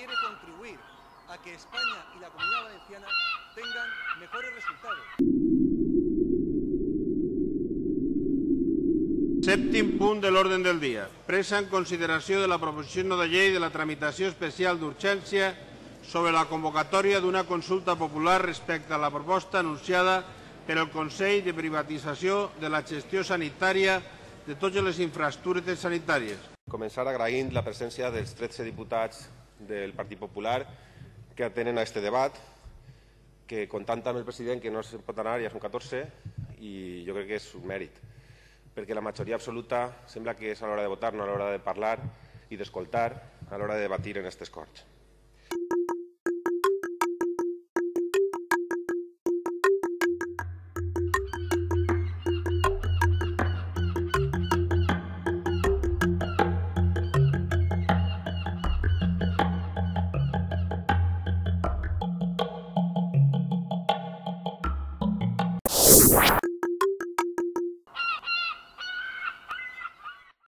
quiere contribuir a que España y la Comunidad Valenciana tengan mejores resultados. Sèptim punt de l'ordre del dia. Presa en consideració de la proposició de llei de la tramitació especial d'urgència sobre la convocatòria d'una consulta popular respecte a la proposta anunciada per el Consell de Privatització de la Gestió Sanitària de totes les infraestructures sanitàries. Començar agraint la presència dels 13 diputats del Partit Popular que atenen a aquest debat, que comptant amb el president que no se'n pot anar, ja són 14, i jo crec que és un mèrit, perquè la majoria absoluta sembla que és a l'hora de votar, no a l'hora de parlar i d'escoltar, a l'hora de debatir en aquestes Corts.